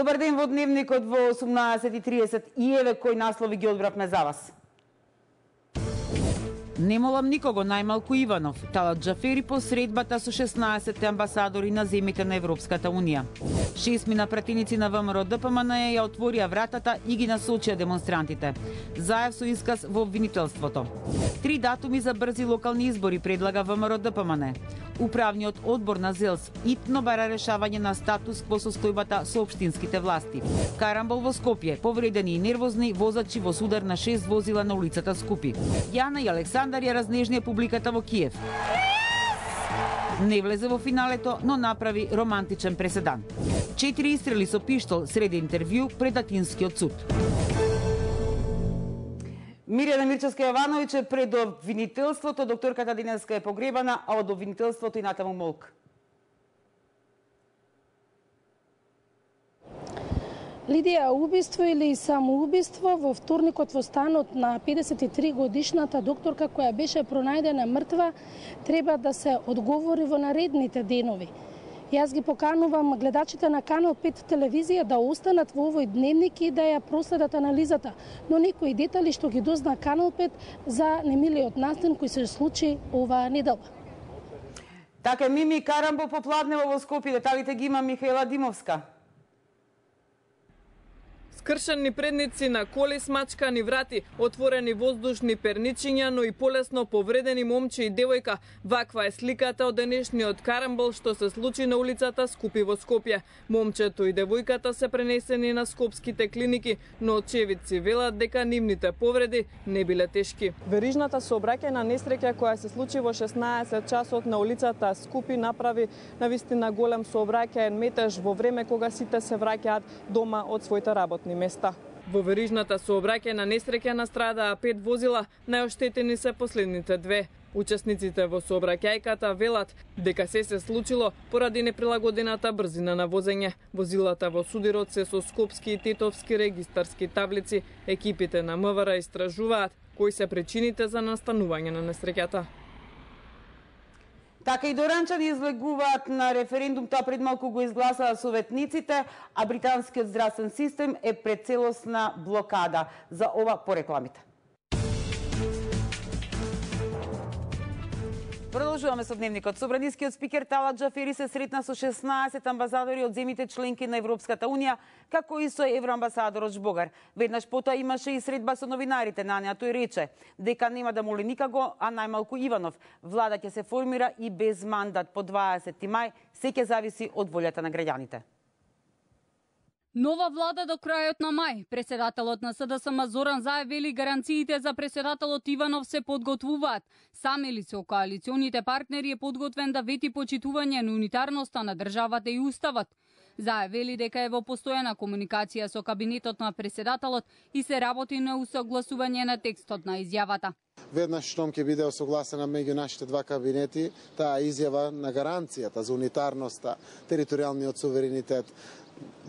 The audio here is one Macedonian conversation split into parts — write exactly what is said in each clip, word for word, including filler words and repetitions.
Добар ден во Дневникот во осумнаесет и тридесет и еве кој наслови ги одбравме за вас. Не молам никого, најмалку Иванов. Талат Џафери по средбата со шеснаесет амбасадори на земјите на Европската Унија. Шестмина пратеници на ВМРО Д П М Н ја отворија вратата и ги насочија демонстрантите. Заев со исказ во обвинителството. Три датуми за брзи локални избори предлага ВМРО Д П М Н. Управниот одбор на ЗЕЛС итно бара решавање на статус во состојбата со општинските власти. Карамбол во Скопје, повредени и нервозни возачи во судар на шест возила на улицата Скупи. Јана и Александар ја разнежнија публиката во Киев. Не влезе во финалето, но направи романтичен преседан. Четири истрели со пиштол среде интервју пред Атинскиот суд. Мирјана Мирчевска-Јовановиќ е пред обвинителството, докторката денеска е погребана, а од обвинителството и натаму молк. Лидија, убиство или самоубиство? Во вторникот во станот на педесет и три годишната докторка која беше пронајдена мртва треба да се одговори во наредните денови. Јас ги поканувам гледачите на Канал пет телевизија да останат во овој дневник и да ја проследат анализата, но некои детали што ги дозна Канал пет за немилиот настан кој се случи оваа недела. Така Мими Карамбол попладнево во Скопје, деталите ги има Михаела Димовска. Скршени предници на коли, смачкани врати, отворени воздушни перничиња, но и полесно повредени момче и девојка. Ваква е сликата од денешниот карамбол што се случи на улицата Скупи во Скопје. Момчето и девојката се пренесени на скопските клиники, но очевидци велат дека нивните повреди не биле тешки. Верижната сообраќајна несреќа која се случи во шеснаесет часот на улицата Скупи направи навистина голем сообраќаен метеж во време кога сите се враќаат дома од своите работни места. Во верижната сообраќајна несреќа настрадаа пет возила, најоштетени се последните две. Учесниците во сообраќајката велат дека се се случило поради неприлагодената брзина на возење. Возилата во судирот се со скопски и тетовски регистарски таблици. Екипите на М В Р истражуваат кои се причините за настанување на несреќата. Така и доранчани излегуваат на референдум, тоа пред малку го изгласаа советниците, а британскиот здравствен систем е пред целосна блокада. За ова по рекламите. Продолжуваме со Дневникот. Собранискиот спикер Талат Џафери се сретна со шеснаесет амбасадори од земјите членки на Европската Унија, како и со евроамбасадорот Жбогар. Веднаш потоа имаше и средба со новинарите, на неа тој рече дека нема да моли никаго, а најмалку Иванов. Влада ќе се формира и без мандат по дваесети мај, се ќе зависи од волјата на граѓаните. Нова влада до крајот на мај. Председателот на С Д С М Зоран Заев вели гаранциите за председателот Иванов се подготвуваат. Сам или со коалиционите партнери е подготвен да вети почитување на унитарноста на државата и уставот. Заев вели дека е во постојана комуникација со кабинетот на председателот и се работи на усогласување на текстот на изјавата. Веднаш штом ќе биде осогласена меѓу нашите два кабинети, таа изјава на гаранцијата за унитарноста, територијалниот суверенитет,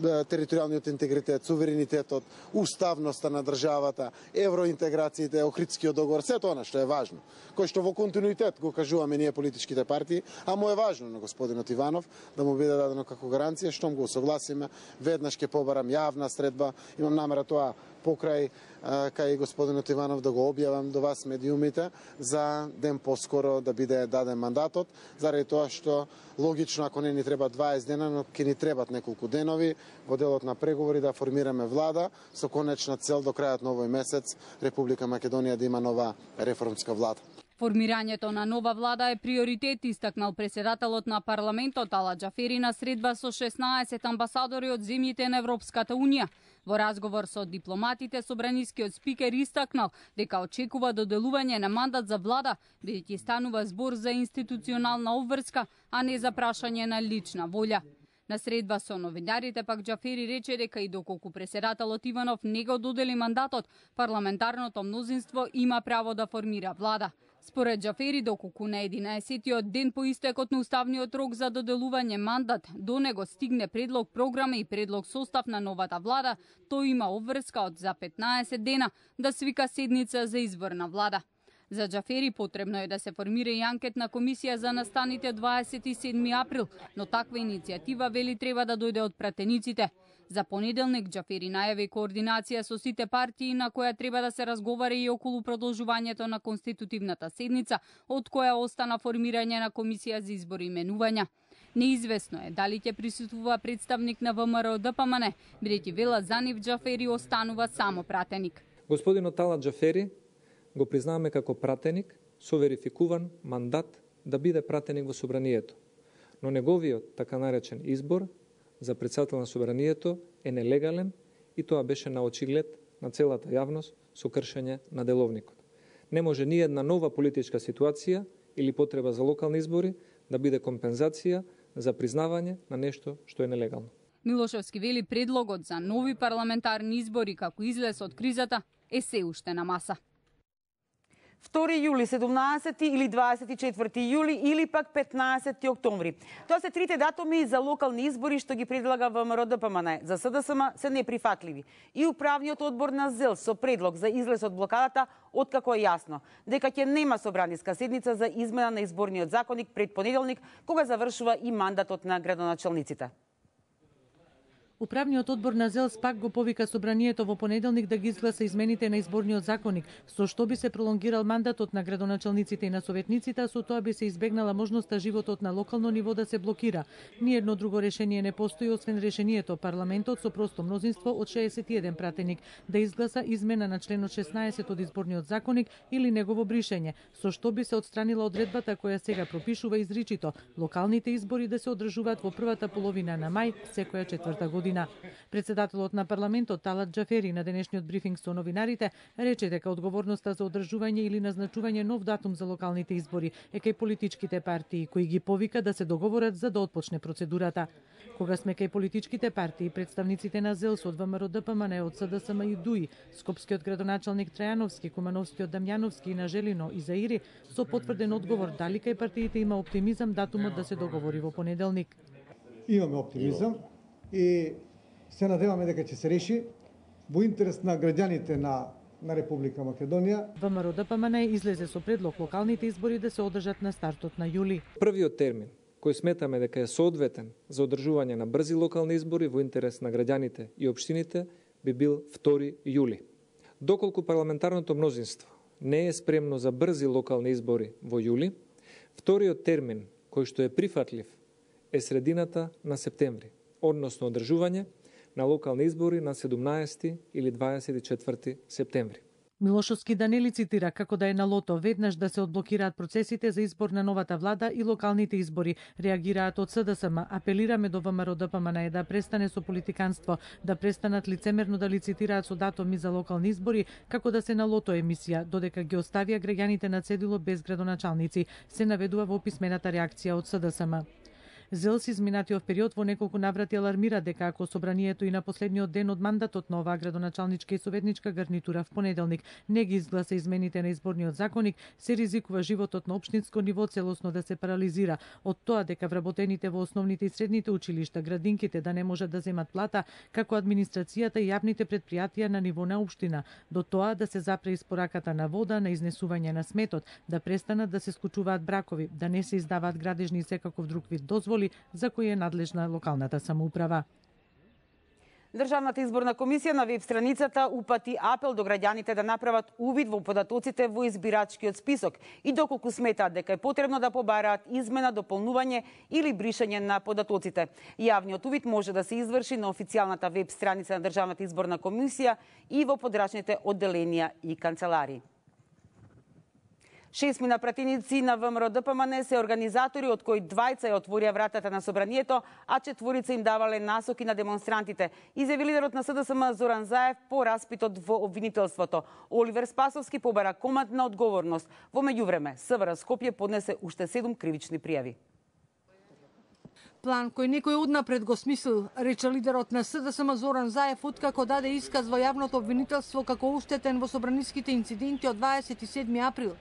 територијалниот интегритет, суверенитетот, уставноста на државата, евроинтеграциите, Охридскиот договор, сето она што е важно, кој што во континуитет го кажуваме ние политичките партии, а му е важно на господинот Иванов да му биде дадено како гаранција, штом го согласиме, веднаш ќе побарам јавна средба, имам намера тоа покрај кај господинот Иванов да го објавам до вас медиумите за ден поскоро да биде даден мандатот, заради тоа што логично ако не ни треба дваесет дена, но ќе ни требат неколку денови во делот на преговори да формираме влада со конечна цел до крајот на овој месец Република Македонија да има нова реформска влада. Формирањето на нова влада е приоритет, истакнал председателот на парламентот Талат Џафери на средба со шеснаесет амбасадори од земјите на Европската Унија. Во разговор со дипломатите, собранискиот спикер истакнал дека очекува доделување на мандат за влада, бидејќи станува збор за институционална обврска, а не за прашање на лична волја. На средба со новинарите пак Џафери рече дека и доколку председателот Иванов не го додели мандатот, парламентарното мнозинство има право да формира влада. Според Џафери, доколку на единаесеттиот ден по истекот на уставниот рок за доделување мандат до него стигне предлог програма и предлог состав на новата влада, тој има обврска од за петнаесет дена да свика седница за избор на влада. За Џафери потребно е да се формира и анкетна комисија за настаните дваесет и седми април, но таква иницијатива вели треба да дојде од пратениците. За понеделник Џафери најави координација со сите партии на која треба да се разговара и околу продолжувањето на конститутивната седница, од која остана формирање на комисија за избори и именувања. Неизвестно е дали ќе присуствува представник на ВМРО Д П М Н, бидејќи вела за нив Џафери останува само пратеник. Господинот Талат Џафери го признаваме како пратеник со верификуван мандат да биде пратеник во собранието. Но неговиот така наречен избор за председател на собранието е нелегален и тоа беше на очиглед на целата јавност со кршење на деловникот. Не може ни една нова политичка ситуација или потреба за локални избори да биде компензација за признавање на нешто што е нелегално. Милошевски вели предлогот за нови парламентарни избори како излез од кризата е се уште на маса. втори јули, седумнаесети или дваесет и четврти јули или пак петнаесети октомври. Тоа се трите датуми за локални избори што ги предлага ВМРО Д П М Н. За С Д С М се неприфатливи. И управниот одбор на ЗЕЛ со предлог за излез од блокадата, откако е јасно дека ќе нема собраниска седница за измена на изборниот законник пред понеделник, кога завршува и мандатот на градоначалниците. Управниот одбор на ЗЕЛ пак го повика собранието во понеделник да ги изгласа измените на изборниот законник, со што би се пролонгирал мандатот на градоначалниците и на советниците, а со тоа би се избегнала можноста животот на локално ниво да се блокира. Ниедно друго решение не постои освен решението парламентот со просто мнозинство од шеесет и еден пратеник да изгласа измена на членот шеснаесет од изборниот законник или негово бришење, со што би се отстранила одредбата која сега пропишува изричито локалните избори да се одржуваат во првата половина на мај секоја четврта година. Председателот на парламентот Талат Џафери на денешниот брифинг со новинарите рече дека одговорноста за одржување или назначување нов датум за локалните избори е кај политичките партии, кои ги повика да се договорат за да отпочне процедурата. Кога сме кај политичките партии, представниците на ЗЕЛ од ВМРО Д П М Н, од С Д С М и ДУИ, Скопскиот градоначалник Трајановски, Кумановскиот Дамјановски и на Желино и Заири, со потврден одговор дали кај партиите има оптимизам датумот да се договори во понеделник. Имаме оптимизам и се надеваме дека ќе се реши во интерес на граѓаните на на Република Македонија. ВМРО Д П М Н излезе со предлог локалните избори да се одржат на стартот на јули. Првиот термин кој сметаме дека е соодветен за одржување на брзи локални избори во интерес на граѓаните и општините би бил втори јули. Доколку парламентарното мнозинство не е спремно за брзи локални избори во јули, вториот термин кој што е прифатлив е средината на септември, односно одржување на локални избори на седумнаесети или дваесет и четврти септември. Милошовски да не лицитира како да е на лото веднаш да се одблокираат процесите за избор на новата влада и локалните избори. Реагираат од С Д С М, апелираме до ВМРО Д П М Н да престане со политиканство, да престанат лицемерно да лицитираат со датуми за локални избори како да се на лото емисија, додека ги оставија граѓаните на цедило без градоначалници, се наведува во писмената реакција од С Д С М. ЗЕЛ со изминатиот период во неколку наврати алармира дека ако собранието и на последниот ден од мандатот на оваа градоначалничка и советничка гарнитура в понеделник не ги изгласа измените на изборниот законник, се ризикува животот на општинско ниво целосно да се парализира, од тоа дека вработените во основните и средните училишта, градинките да не можат да земат плата, како администрацијата и јавните предпријатија на ниво на општина, до тоа да се запре испораката на вода, на изнесување на сметот, да престанат да се скучуваат бракови, да не се издаваат градежни и секаков друг вид дозволи за кои е надлежна локалната самоуправа. Државната изборна комисија на веб страницата упати апел до граѓаните да направат увид во податоците во избирачкиот список и доколку сметаат дека е потребно да побараат измена, дополнување или бришање на податоците. Јавниот увид може да се изврши на официјалната веб страница на Државната изборна комисија и во подрачните одделенија и канцеларии. Шестмина пратеници на ВМРО Д П М Н се организатори, од кои двајца ја отворија вратата на собранието, а четворица им давале насоки на демонстрантите, изјави лидерот на С Д С М Зоран Заев по распитот во обвинителството. Оливер Спасовски побара командна одговорност. Во меѓувреме, С В Р Скопје поднесе уште седум кривични пријави. План кој некој однапред го смислил, рече лидерот на С Д С М Зоран Заев откако даде исказ во јавното обвинителство како уштетен во собраниските инциденти од дваесет и седми април.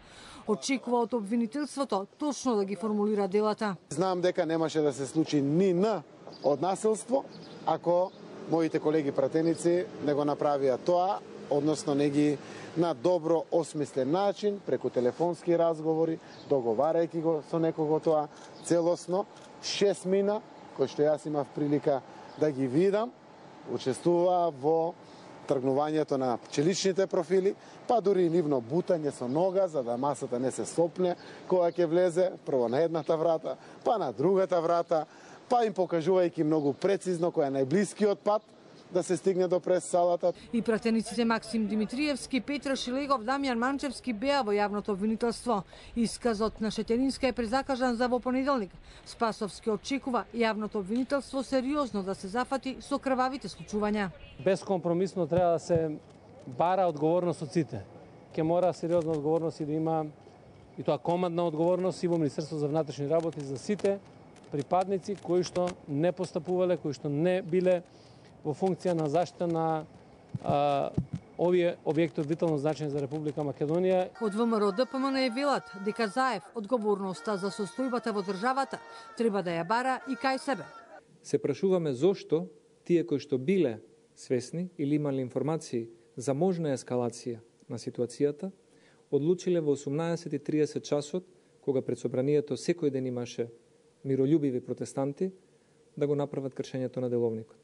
Очекува од обвинителството точно да ги формулира делата. Знам дека немаше да се случи ни на од насилство, ако моите колеги пратеници не го направија тоа, односно не ги на добро осмислен начин, преку телефонски разговори, договарајќи го со некого тоа целосно, шест мина, кои што јас имав прилика да ги видам, учествуваа во тргнувањето на пчеличните профили, па дури и нивно бутање со нога, за да масата не се сопне кога ќе влезе, прво на едната врата, па на другата врата, па им покажувајќи многу прецизно кој е најблискиот пат да се стигне до прес-салата. И пратениците Максим Димитриевски, Петра Шилегов, Дамјан Манчевски беа во јавното обвинителство. Исказот на Шетеринска е презакажан за во понеделник. Спасовски очекува јавното обвинителство сериозно да се зафати со крвавите случувања. Безкомпромисно треба да се бара одговорност од сите. Ке мора сериозна одговорност и да има и тоа командна одговорност и во Министерство за внатрешни работи за сите припадници кои што не постапувале, кои што не биле во функција на заштита на а, овие објекти од витално значење за Република Македонија. Од ВМРО Д П М Н е велат дека Заев одговорноста за состојбата во државата треба да ја бара и кај себе. Се прашуваме зошто тие кои што биле свесни или имале информации за можна ескалација на ситуацијата, одлучиле во осумнаесет и триесет часот, кога пред собранието секој ден имаше миролюбиви протестанти, да го направат кршењето на деловникот.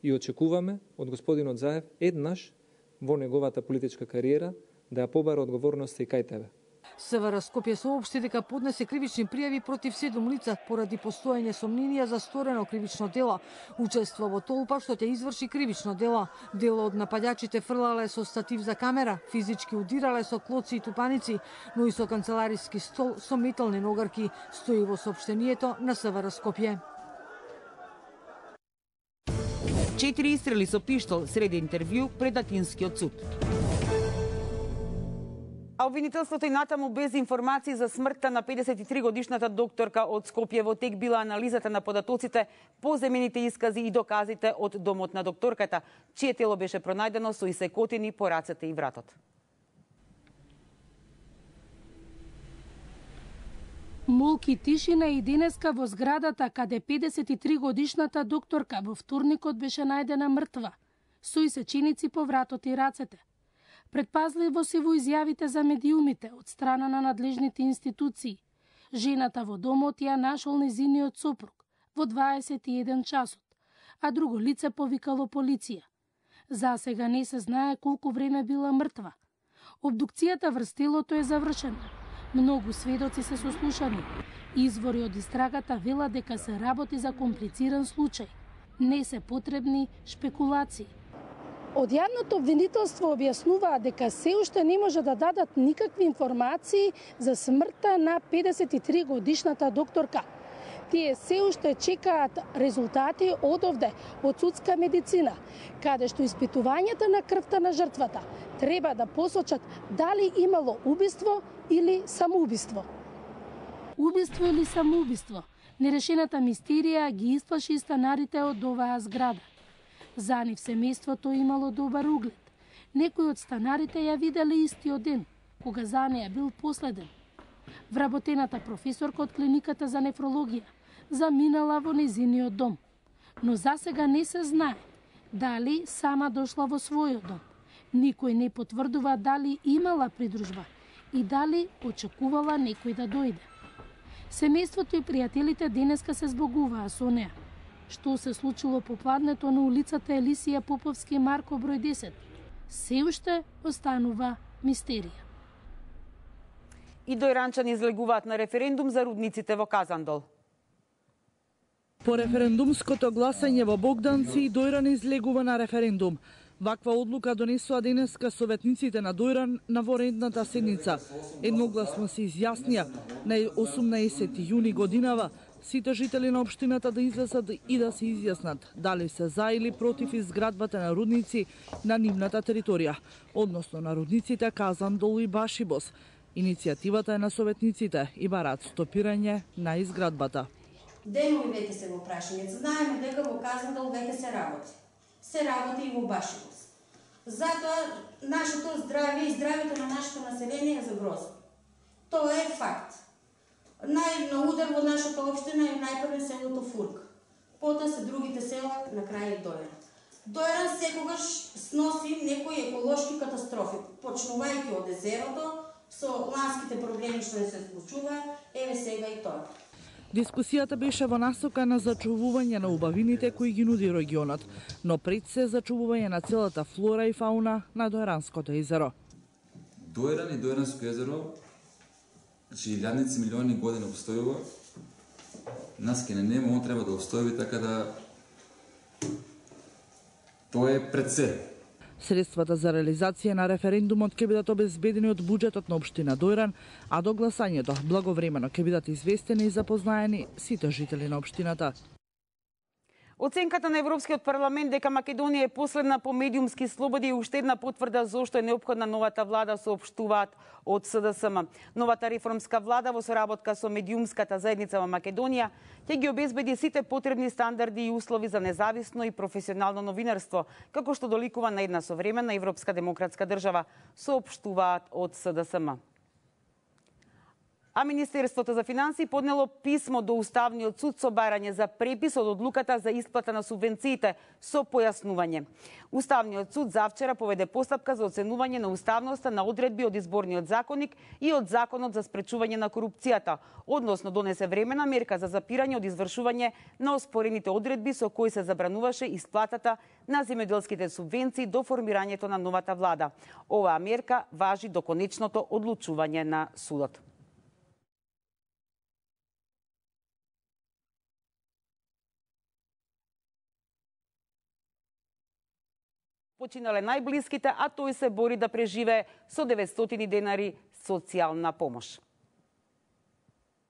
И очекуваме од господинот Заев еднаш во неговата политичка кариера да ја побара одговорноста и кај тебе. СВР Скопје соопшти дека поднесе кривични пријави против седум лица поради постоење сомненија за сторено кривично дело. Учество во толпа што ќе изврши кривично дело. Дело од нападачите фрлале со статив за камера, физички удирале со клоци и тупаници, но и со канцелариски стол со метални ногарки, стои во соопштението на СВР Скопје. Четири истрели со пиштол среди интервју пред Атинскиот суд. А обвинителството и натаму без информации за смртта на педесет и три годишната докторка од Скопје. Во тек била анализата на податоците, поземените искази и доказите од домот на докторката, чие тело беше пронајдено со исекотини по рацете и вратот. Молки тишина и денеска во зградата каде педесет и три годишната докторка во вторникот беше најдена мртва, со исеченици по вратот и рацете. Предпазливо се во изјавите за медиумите од страна на надлежните институции. Жената во домот ја нашол незиниот сопруг во дваесет и еден часот, а друго лице повикало полиција. За сега не се знае колку време била мртва. Обдукцијата врз телото е завршена. Многу сведоци се сослушани. Извори од истрагата велат дека се работи за комплициран случај. Не се потребни шпекулации. Од јавното обвинителство објаснуваа дека се уште не може да дадат никакви информации за смртта на педесет и три годишната докторка. Тие се уште чекаат резултати од овде, од судска медицина, каде што испитувањата на крвта на жртвата треба да посочат дали имало убиство или самоубиство. Убиство или самоубиство? Нерешената мистерија ги исплаши станарите од оваа зграда. За нив семејството имало добар углед. Некои од станарите ја виделе истиот ден, кога за неја бил последен. Вработената професорка од клиниката за нефрологија заминала во незиниот дом. Но засега не се знае дали сама дошла во својот дом. Никој не потврдува дали имала придружба и дали очекувала некој да дојде. Семејството и пријателите денеска се збогуваа со неа. Што се случило попладнето на улицата Елисија Поповски Марко број десет, се уште останува мистерија. И дојранчани излегуваат на референдум за рудниците во Казандол. По референдумското гласање во Богданци и Дојран излегува на референдум. Ваква одлука донесоа денеска советниците на Дојран на воредната седница. Едногласно се изјаснија на осумнаесети јуни годинава сите жители на општината да излезат и да се изјаснат дали се за или против изградбата на рудници на нивната територија, односно на рудниците Казандол и Башибос. Иницијативата е на советниците и бараат стопирање на изградбата. Денови веќе се во прашање. Знаеме дека во Казандол веќе се работи. Се работи и во Башибос. Затоа нашето здравје и здравјето на нашето население е загрозено. Тоа е факт. Нај на удар во нашата општина е најпрвен селото Фурк. Потоа се другите села на крај Дојран. Дојран секогаш сноси некои еколошки катастрофи, почнувајќи од езерото, со ланските проблеми што не се случува, еве сега и тоа. Дискусијата беше во насока на зачувување на убавините кои ги нуди регионот, но пред се зачувување на целата флора и фауна на Дојранското езеро. Дојран и Дојранско езеро, значи илјадници милиони години обстојува, нас ке не нема, он треба да обстојува, така да тоа е пред се. Средствата за реализација на референдумот ќе бидат обезбедени од буџетот на општина Дојран, а до гласањето благовремено ќе бидат известени и запознаени сите жители на општината. Оценката на Европскиот парламент дека Македонија е последна по медиумски слободи и уште една потврда зошто е неопходна новата влада, соопштуваат од С Д С М. Новата реформска влада во соработка со медиумската заедница во Македонија ќе ги обезбеди сите потребни стандарди и услови за независно и професионално новинарство, како што доликува на една современа европска демократска држава, соопштуваат од С Д С М. А Министерството за финансии поднело писмо до Уставниот суд со барање за препис од одлуката за исплата на субвенциите со појаснување. Уставниот суд завчера поведе постапка за оценување на уставноста на одредби од изборниот законник и од законот за спречување на корупцијата, односно донесе времена мерка за запирање од извршување на оспорените одредби со кои се забрануваше исплатата на земјоделските субвенции до формирањето на новата влада. Оваа мерка важи до конечното одлучување на судот. Починале најблиските, а тој се бори да преживее со деветстотини денари социјална помош.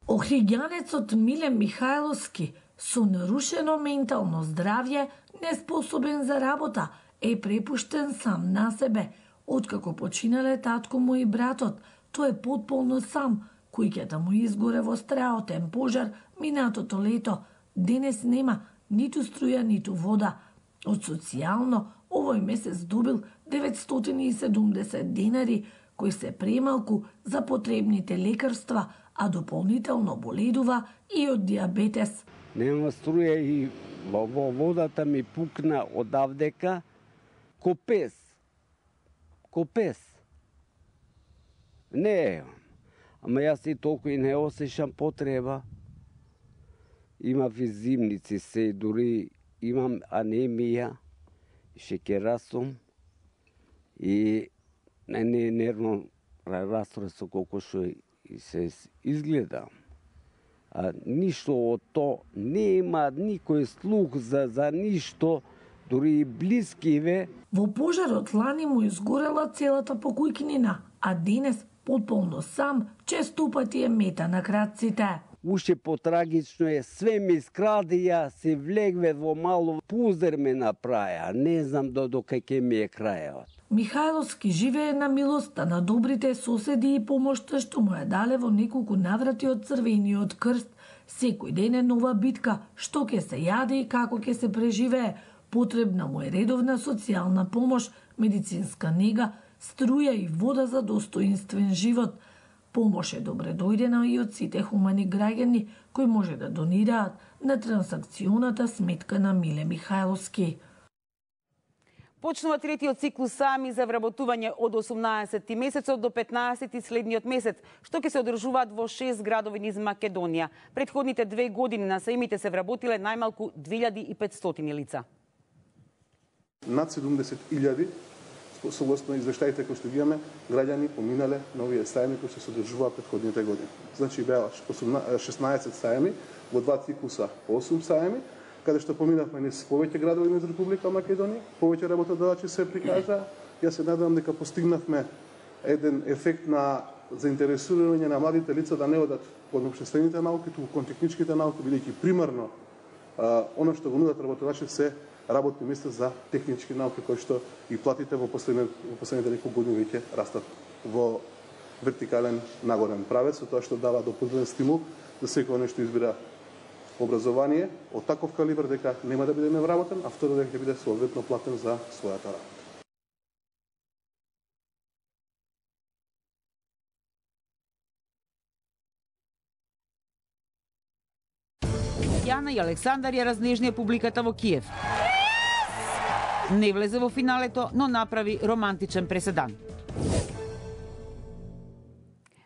Охриѓанецот Миле Михајловски со нарушено ментално здравје, неспособен за работа, е препуштен сам на себе. Откако починале татко му и братот, тој е потполно сам. Куќата му изгоре во страотен пожар минатото лето. Денес нема ниту струја, ниту вода. Од социјално овој месец добил деветстотини и седумдесет денари, кои се премалку за потребните лекарства, а дополнително боледува и од диабетес. Нема струја и во водата ми пукна одавдека копес. Копес. Не, ама јас и толку и не осешам потреба. Имав и зимници се, дури имам анемија, шеќерасум и не не нервно раствор со колку што и се изгледа. А ништо од то нема никој слух за за ништо, дури и блискиве. Во пожарот лани му изгорела целата покујкнина, а денес потполно сам често пати е мета на крадците. Уште потрагично е, све ми скрадија, се влегве во мало пузер ме направија, не знам до до кај ми е крајот. Михајловски живее на милоста на добрите соседи и помошта што му ја дале во неколку наврати од Црвениот крст. Секој ден е нова битка, што ќе се јаде и како ќе се преживее. Потребна му е редовна социјална помош, медицинска нега, струја и вода за достоинствен живот. Помош е добре дојдена и од сите хумани граѓани кои може да донираат на трансакционата сметка на Миле Михајловски. Почнува третиот циклус саами за вработување од осумнаесети месецот до петнаесети следниот месец, што ќе се одржуваат во шест градови низ Македонија. Предходните две години на саимите се вработиле најмалку две илјади и петстотини лица. Над седумдесет илјади согласно извештаите кои што ги имаме, граѓани поминале на овие саеми кои што се одржуваат претходните години. Значи беа шеснаесет саеми во два циклуса по осум саеми, каде што поминавме низ повеќе градови низ Република Македонија, повеќе работодавачи се прикажа. Јас се надевам дека постигнавме еден ефект на заинтересување на младите лица да не одат кон општествените науки, туку кон техничките науки, бидејќи примарно она што го нудат работодавачите се работни места за технички науки, кои што и платите во последните, во последните неколку години веќе растат во вертикален нагорен правец, со тоа што дава дополнителен стимул за секој нешто избира образование од таков калибар дека нема да биде невработен, а второ дека ќе биде соодветно платен за својата работа. Јана и Александар ја разнежнија публиката во Киев. Не влезе во финалето, но направи романтичен преседан.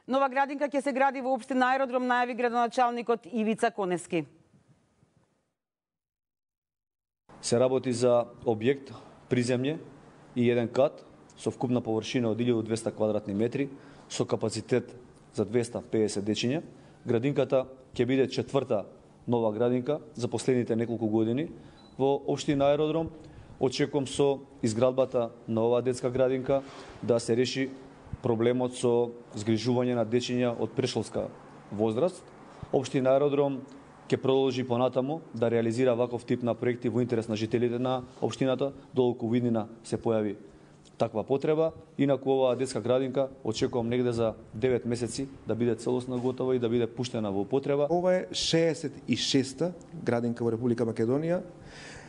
Нова градинка ќе се гради во општина Аеродром, најави градоначалникот Ивица Конески. Се работи за објект приземје и еден кат со вкупна површина од илјаду и двесте квадратни метри, со капацитет за двесте и педесет дечиња. Градинката ќе биде четврта нова градинка за последните неколку години во општина Аеродром. Очекувам со изградбата на оваа детска градинка да се реши проблемот со згрижување на дечиња од прешколска возраст. Општина Аеродром ќе продолжи понатаму да реализира ваков тип на проекти во интерес на жителите на општината, додолку во иднина се појави таква потреба. Инаку оваа детска градинка очекувам негде за девет месеци да биде целосно готова и да биде пуштена во употреба. Ова е шеесет и шеста градинка во Република Македонија,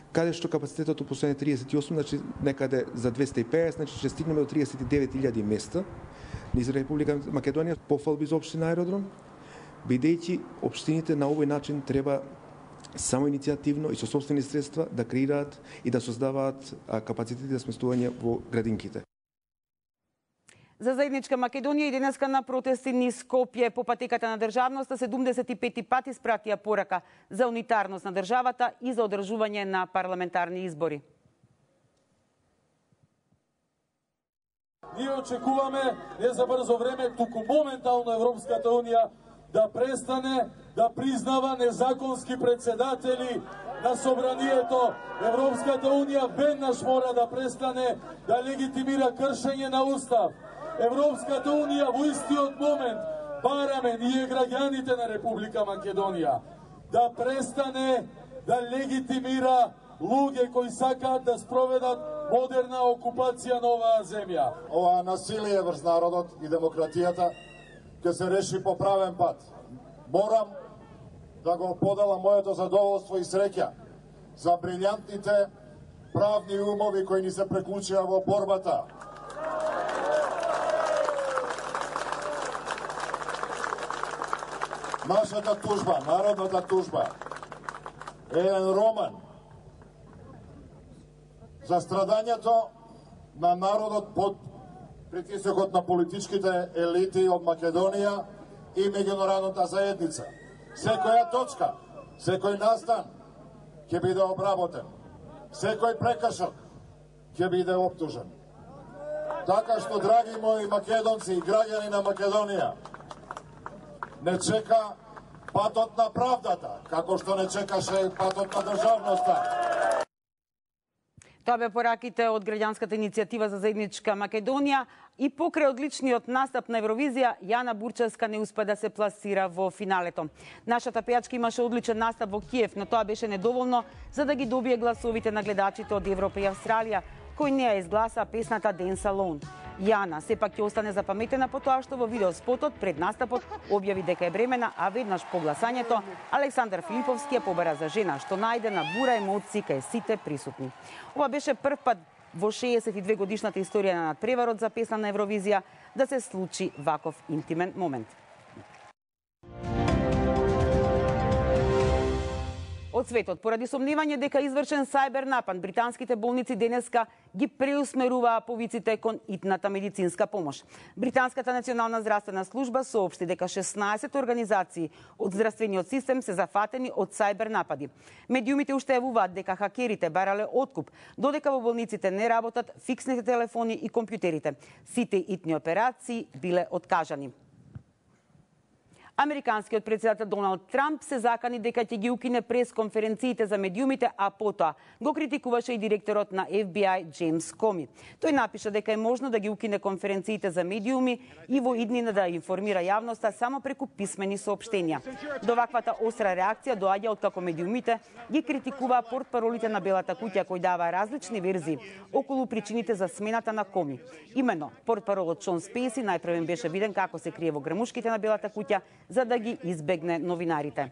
каде што капацитетот последни триесет и осум, значи некаде за двесте и педесет, значи ќе стигнеме до триесет и девет илјади места низ Република Македонија. Пофалби за општина Аеродром, бидејќи општините на овој начин треба само иницијативно и со сопствени средства да креираат и да создаваат капацитети за сместување во градинките. За заедничка Македонија и денеска на протести низ Скопје по патеката на државноста седумдесет и пети пат испратија порака за унитарност на државата и за одржување на парламентарни избори. Ние очекуваме не за брзо време, туку моментално Европската унија да престане да признава незаконски председатели на собранието. Европската унија веднаш мора да престане да легитимира кршење на устав. Европската унија во истиот момент бараме ние граѓаните на Република Македонија да престане да легитимира луѓе кои сакаат да спроведат модерна окупација на оваа земја. Ова насилие врз народот и демократијата ќе се реши по правен пат. Морам да го поделам моето задоволство и среќа за брилјантните правни умови кои ни се преклучија во борбата. Нашата тужба, народната тужба, е еден роман за страдањето на народот под притисокот на политичките елити од Македонија и меѓународната заедница. Секоја точка, секој настан ќе биде обработен. Секој прекршок ќе биде оптужен. Така што, драги мои македонци и граѓани на Македонија, не чека патот на правдата, како што не чекаше патот на државноста. Тоа бе пораките од граѓанската иницијатива за заедничка Македонија и покрај одличниот настап на Евровизија, Јана Бурчевска не успе да се пласира во финалето. Нашата пејачка имаше одличен настап во Киев, но тоа беше недоволно за да ги добие гласовите на гледачите од Европа и Австралија, кои не ја изгласа песната Dance Alone. Јана сепак ќе остане запаметена по тоа што во видеоспотот пред настапот објави дека е бремена, а веднаш по гласањето Александар Филиповски ја побара за жена, што најде на бура емоции кај сите присутни. Ова беше прв пат во шеесет и две годишната историја на надпреварот за песна на Евровизија да се случи ваков интимен момент. Од светот, поради сомневање дека извршен сајбер напад, британските болници денеска ги преусмеруваа повиците кон итната медицинска помош. Британската национална здравствена служба соопшти дека шеснаесет организации од здравствениот систем се зафатени од сајбер напади. Медиумите уште јавуваат дека хакерите барале откуп, додека во болниците не работат фиксните телефони и компјутерите. Сите итни операции биле откажани. Американскиот претседател Доналд Трамп се закани дека ќе ги укине пресконференциите за медиумите, а потоа го критикуваше и директорот на Еф Би Ај Джеймс Коми. Тој напиша дека е можно да ги укине конференциите за медиуми и во иднина да информира јавноста само преку писмени соопштенија. До ваквата остра реакција доаѓа откако медиумите ги критикуваа портпаролите на Белата куќа кои даваа различни верзии околу причините за смената на Коми. Имено, портпаролот Шон Спейси најпрвен беше виден како се крие во грмушките на Белата куќа за да ги избегне новинарите.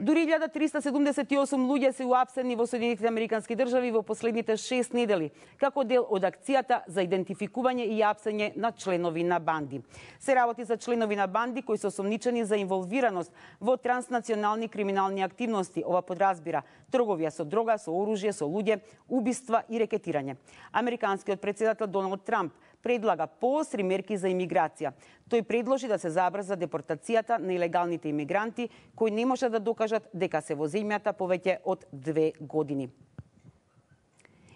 Дури илјада триста седумдесет и осум луѓе се уапсени во Соединетите Американски држави во последните шест недели, како дел од акцијата за идентификување и апсење на членови на банди. Се работи за членови на банди кои се осомничени за инволвираност во транснационални криминални активности. Ова подразбира трговија со дрога, со оружје, со луѓе, убиства и рекетирање. Американскиот претседател Доналд Трамп предлага поостри мерки за имиграција. Тој предложи да се забрза депортацијата на илегалните имигранти кои не може да докажат дека се во земјата повеќе од две години.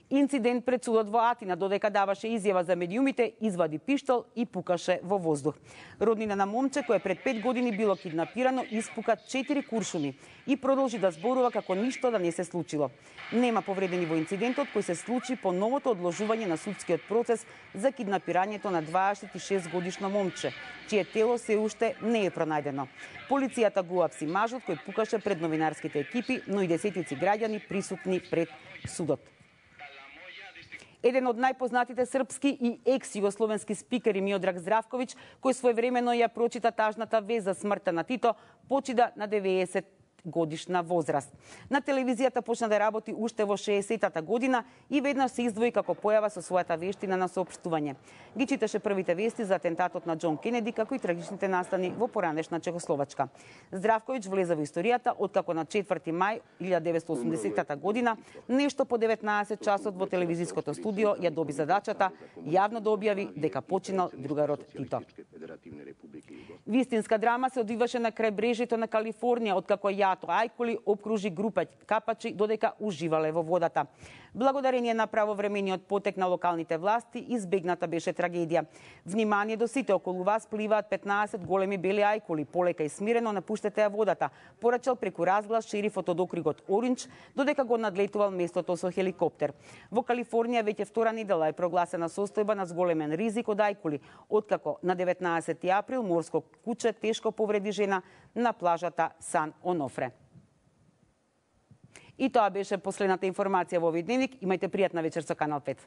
Инцидент пред судот во Атина, додека даваше изјава за медиумите, извади пиштол и пукаше во воздух. Роднина на момче кое пред пет години било киднапирано испука четири куршуми и продолжи да зборува како ништо да не се случило. Нема повредени во инцидентот кој се случи по новото одложување на судскиот процес за киднапирањето на дваесет и шест годишно момче, чие тело се уште не е пронајдено. Полицијата го апси мажот кој пукаше пред новинарските екипи, но и десетици граѓани присутни пред судот. Еден од најпознатите српски и екс-југословенски спикери Миодраг Здравковиќ, кој своевремено ја прочита тажната вест за смртта на Тито, почида на деветдесет годишна возраст. На телевизијата почна да работи уште во шеесеттата година и веднаш се издвои како појава со својата вештина на соопштување. Ги читаше првите вести за атентатот на Џон Кенеди, како и трагичните настани во поранешна Чехословачка. Здравковиќ влезе во историјата откако на четврти мај илјадесетстотини и осумдесетата година, нешто по деветнаесет часот во телевизиското студио ја доби задачата јавно да објави дека починал другарот Тито. Вистинска драма се одвиваше на крајбрежјето на Калифорнија, откако ја ајкули обкружи група капачи додека уживале во водата. Благодарение на правовремениот потек на локалните власти, избегната беше трагедија. Внимание до сите, околу вас пливаат петнаесет големи бели ајкули, полека и смирено напуштете ја водата, порачал преку разглас шерифот од округот Оринџ, додека го надлетувал местото со хеликоптер. Во Калифорнија веќе втора недела е прогласена состојба на зголемен ризик од ајкули, откако на деветнаесети април морско куче тешко повреди жена на плажата Сан Онофре. И тоа беше последната информација во овој дневник. Имајте пријатна вечер со Канал пет.